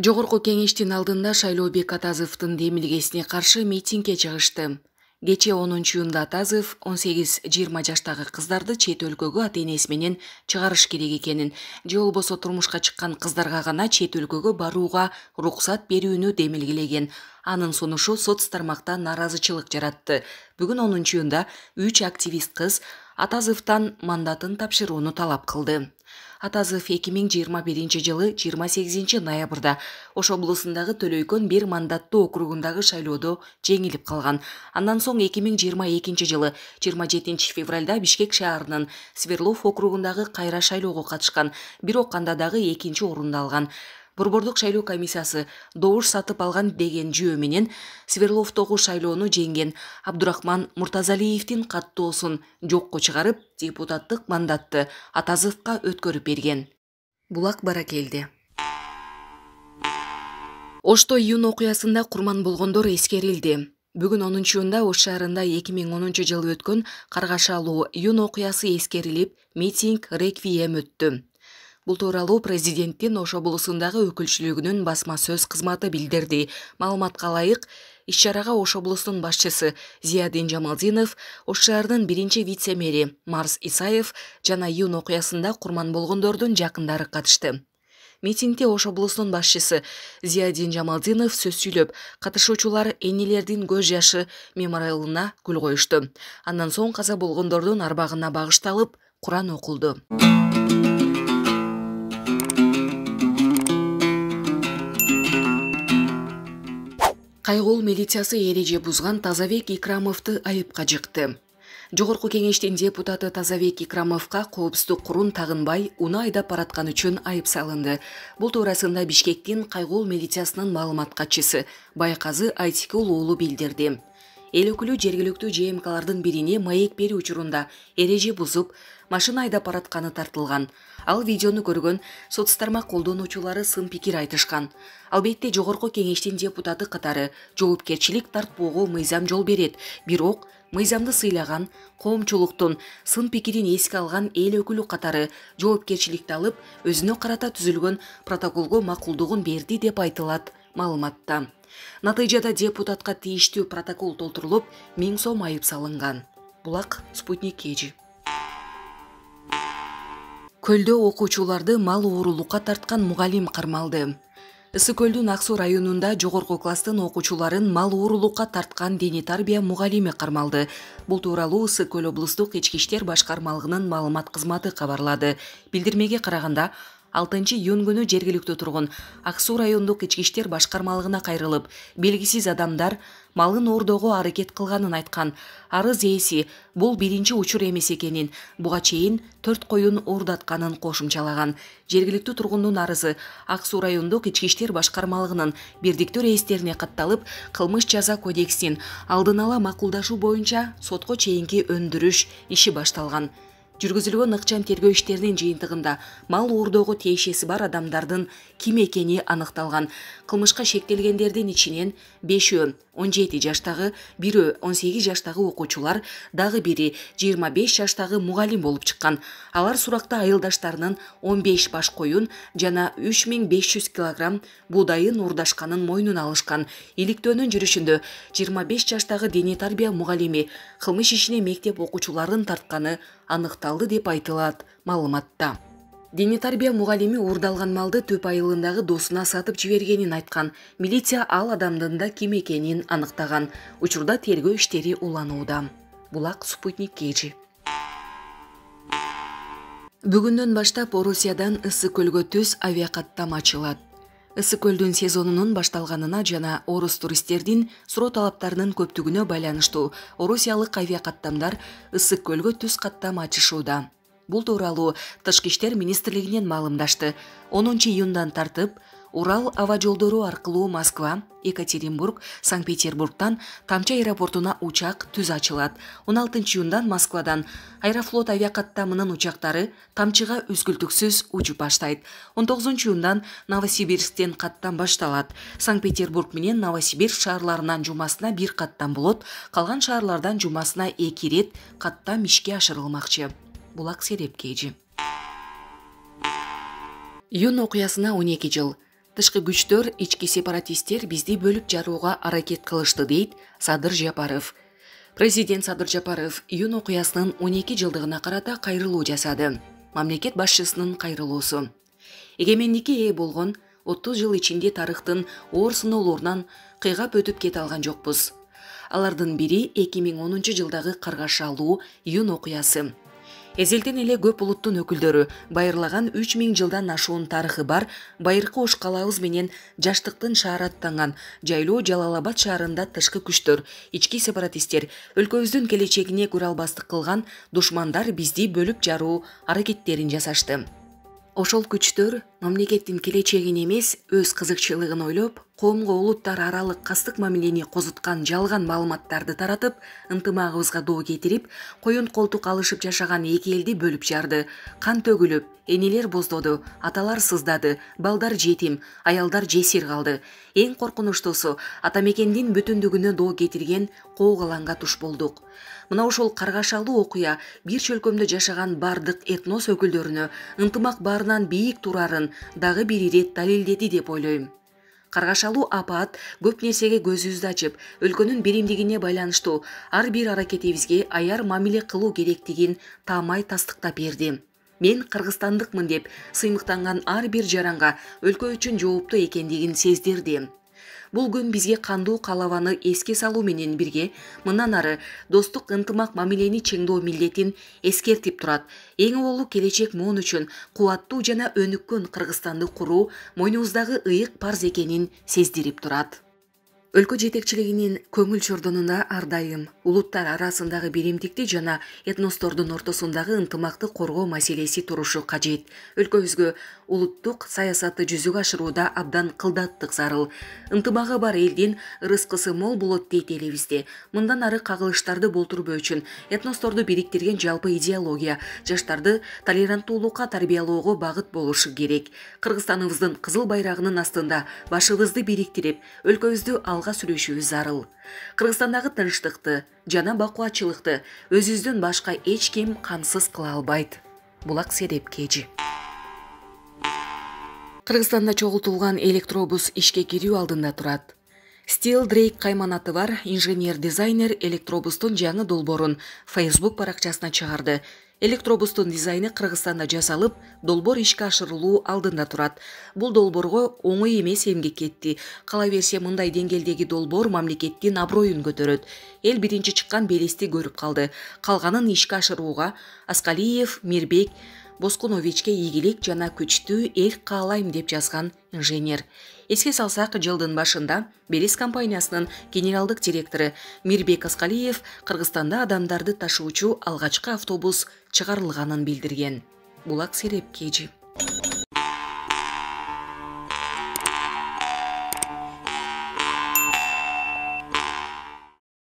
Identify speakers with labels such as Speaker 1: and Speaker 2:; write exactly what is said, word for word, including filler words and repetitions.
Speaker 1: Жогорку кеңештин алдында Шайлообек Атазовдун демилгесине каршы митингге чыгышты. Кечээ онунчу июнда Атазов он сегиз жыйырма жаштагы кыздарды чет өлкөгө ата-энеси менен чыгарыш керек экенин, же болбосо турмушка чыккан кыздарга гана чет өлкөгө барууга уруксат берүүнү демилгелеген. Анын сунушу соц тармакта нааразычылык жаратты. Бүгүн онунчу июнда үч активист кыз Атазовдон мандатын тапшырууну талап кылды. Атазов эки миң жыйырма биринчи жылы жыйырма сегизинчи ноябрда Ош облусундагы Төлөйкөн бир мандаттуу округундагы шайлоодо жеңилип калган. Андан соң эки миң жыйырма экинчи жылы жыйырма жетинчи февралда Бишкек шаарынын Сверлов округундагы кайра шайлоого катышкан, бирок анда дагы экинчи орунду алган. Борбордук шайлоо комиссиясы добуш сатып алган деген жөө менен Сверловдогу шайлоону жеңген Абдурахман Муртазалиевдин каттоосун жокко чыгарып, депутаттык мандатты Атазовго өткөрүп берген. Булак Баракелди. Ошто июнь окуясында курман болгондор эскерилди. Бүгүн онунчу июнда Ош шаарында эки миң онунчу жылы өткөн каргашалуу июнь окуясы эскерилип, митинг реквием өттү. Бул тууралуу президенттин Ош облусундагы өкүлчүлүгүнүн басма сөз кызматы билдирди. Маалыматка ылайык, иш-чарага Ош облусунун башчысы Зиядин Жамалдинов, Ош шаарынын биринчи вице-мэри Марс Исаев жана июнь окуясында курман болгондордун жакындары катышты. Митингде Ош облусунун башчысы Зиядин Жамалдинов сөз сүйлөп, катышуучулар энелердин көз жашы мемориалына гүл коюшту. Андан соң каза болгондордун арбагына багышталып, Куран окулду. Кайгул милициясы эреже бузган Тазабек Икрамовду айыпка жыкты. Жогорку кеңештин депутаты Тазабек Икрамовго коопсуздук курун тагынбай уну айдап бараткан үчүн айып салынды. Бул туурасында Бишкектин Кайгул милициясынын маалымат катчысы Байказы Айтикул уулу билдирди. Эл өкүлү жергиликтүү Ж М Клардын бирине маек берүү учурунда эреже бузуп, машина айдап баратканы тартылган. Ал видеону көргөн соц тармак колдонуучулары сын пикир айтышкан. Албетте жогорку кеңештин депутаты катары жоопкерчилик тартпоого мыйзам жол берет, бирок мыйзамды сыйлаган, коомчулуктун сын пикирин эске алган эл өкүлү катары жоопкерчиликти алып, өзүнө карата түзүлгөн протоколго макулдугун берди деп айтылат маалыматта. Натыйжада депутатка тийиштүү протокол толтурулуп, миң сом айып салынган. Булак Спутник Кежи. Көлдө окуучуларды мал оорулукка тарткан мугалим кармалды. Ысык көлдүн Ак Суу районунда жогорку класстын окуучуларын мал оорулукка тарткан дене тарбия мугалими кармалды. Бул тууралуу Ысык көл облустук ички иштер башкармалыгынын маалымат кызматы кабарлады. Билдирмеге караганда, алтынчы июнь күнү жергиликтүү тургун Ак Суу райондук ички иштер башкармалыгына кайрылып, белгисиз адамдар малын оордоого аракет кылганын айткан. Арыз ээси бул биринчи учур эмес экенин, буга чейин төрт коюн оордатканын кошумчалаган. Жергиликтүү тургундун арызы Ак Суу райондук ички иштер башкармалыгынын бирдиктүү рейистерине катталып, кылмыш жаза кодексин алдын ала макулдашуу боюнча сотко чейинки өндүрүш иши башталган. Жүргүзүлгөн ыкчам тергөө иштеринин жыйынтыгында мал оордоого тиешеси бар адамдардын ким экени аныкталган. Кылмышка шектелгендердин ичинен бешөө он жети жаштагы, бирөө он сегиз жаштагы окуучулар, дагы бири жыйырма беш жаштагы мугалим болуп чыккан. Алар суракта айылдаштарынын он беш баш коюн жана үч миң беш жүз килограмм буудайын уурдашканын мойнуна алышкан. Иликтөөнүн жүрүшүндө жыйырма беш жаштагы дене тарбия мугалими кылмыш ишине мектеп окуучуларын тартканы аныкталды деп айтылат маалыматта. Дене тарбия мугалими уурдалган малды Төп айылындагы досуна сатып жибергенин айткан. Милиция ал адамдын да ким экенин аныктаган. Учурда тергөө иштери уланууда. Булак Спутник Кежи. Бүгүндөн баштап Орусиядан Ысык көлгө түз авиакаттам ачылат. Ысык көлдүн сезонунун башталганына жана орус туристтердин суроо талаптарынын көптүгүнө байланыштуу орусиялык авиакаттамдар Ысык көлгө түз каттам ачышууда. Бул тууралуу Тышкы иштер министрлигинен маалымдашты. онунчу июндан тартып, Урал аба жолдору аркылуу Москва, Екатеринбург, Санкт-Петербургтан Тамча аэропортуна учак түз ачылат. он алтынчы июндан Москвадан Аэрофлот авиакаттамынын учактары Тамчыга үзгүлтүксүз учуп баштайт. он тогузунчу июндан Новосибирсктен каттам башталат. Санкт-Петербург менен Новосибирск шаарларынан жумасына бир каттам болот, калган шаарлардан жумасына эки ирет каттам ишке ашырылмакчы. Булак Серепкежи. Июнь окуясына он эки жыл. Тышкы күчтөр, ички сепаратисттер бизди бөлүп жарууга аракет кылышты, дейт Садыр Жапаров. Президент Садыр Жапаров июнь окуясынын он эки жылдыгына карата кайрылуу жасады. Мамлекет башчысынын кайрылуусу. Эгемендикке ээ болгон отуз жыл ичинде тарыхтын оор сыноолорунан кыйгап өтүп кете алган жокпуз. Алардын бири эки миң онунчу жылдагы каргашалуу июнь окуясы. Эзелден эле көп улуттун өкүлдөрү байырлаган үч миң жылдан ашуун тарыхы бар байыркы Ош калабыз менен жаштыктын шаары аттанган жайлоо Жалал-Абад шаарында тышкы күчтөр, ички сепаратисттер өлкөбүздүн келечегине көралбастык кылган душмандар бизди бөлүп жаруу аракеттерин жасашты. Ошол күчтөр мамлекеттин келечегин эмес, өз кызыкчылыгын ойлоп, коомго улуттар аралык кастык мамилени козуткан жалган маалыматтарды таратып, ынтымагыбызга доо кетирип, коюн колтук алышып жашаган эки элди бөлүп жарды. Кан төгүлүп, энелер боздоду, аталар сыздады, балдар жетим, аялдар жесир калды. Эң коркунучтуусу, ата мекендин бүтүндүгүнө доо кетирген коогаланга туш болдук. Мына ошол каргашалуу окуя бир чөлкөмдө жашаган бардык этнос өкүлдөрүнө ынтымак баарынан бийик турарын дагы бир ирет далилдеди деп ойлойм. Каргашалуу апаат көп нерсеге көзүбүздү ачып, өлкөнүн биримдигине байланыштуу ар бир аракетибизге аяр мамиле кылуу керектигин таамай тастыктап берди. Мен кыргызстандыкмын деп сыймыктанган ар бир жаранга өлкө үчүн жооптуу экендигин сездирди. Бул күн бизге кандуу калабаны эске салуу менен бирге мындан ары достук ынтымак мамилени чыңдоо милдетин эскертип турат. Эң олуу келечек моон үчүн кубаттуу жана өнүккөн Кыргызстанды куруу мойнубуздагы ыйык парз экенин сездирип турат. Өлкө жетекчилигинин көңүл чордонунда ар дайым улуттар арасындагы биримдикти жана этностордун ортосундагы ынтымакты коргоо маселеси турушу кажет. Өлкөбүзгө улуттук саясатты жүзүгө ашырууда абдан кылдаттык зарыл. Ынтымагы бар элдин ырыскысы мол болот дейт элибизде. Мындан ары кагылыштарды болтурбоо үчүн этносторду бириктирген жалпы идеология жаштарды толеранттуулукка тарбиялоого багыт болушу керек. Кыргызстаныбыздын кызыл байрагынын астында башыбызды бириктирип, өлкөбүздү алга сүрүшүбүз зарыл. Кыргызстандагы тынчтыкты жана бакубатчылыкты өзүбүздөн башка эч ким камсыз кыла албайт. Булак Сереп Кежи. Кыргызстанда чогултулган электробус ишке кирүү алдында турат. Steel Drake кайманаты бар инженер-дизайнер электробустун жаңы долбоорун Facebook баракчасына чыгарды. Электробустун дизайны Кыргызстанда жасалып, долбоор ишке ашырылуу алдында турат. Бул долбоорго оңой эмес эмгек кетти. Кала берсе, мындай деңгээлдеги долбоор мамлекеттин аброюн көтөрөт. Эл биринчи чыккан белести көрүп калды. Калганын ишке ашырууга Аскалиев, Мирбек, Боскуновичке ийгилик жана күчтүү эл каалайм деп жазган инженер. Эске салсак, жылдын башында Белиз компаниясынын генералдык директору Мирбек Аскалиев Кыргызстанда адамдарды ташуучу алгачкы автобус чыгарылганын билдирген. Булак Сереп Кежи.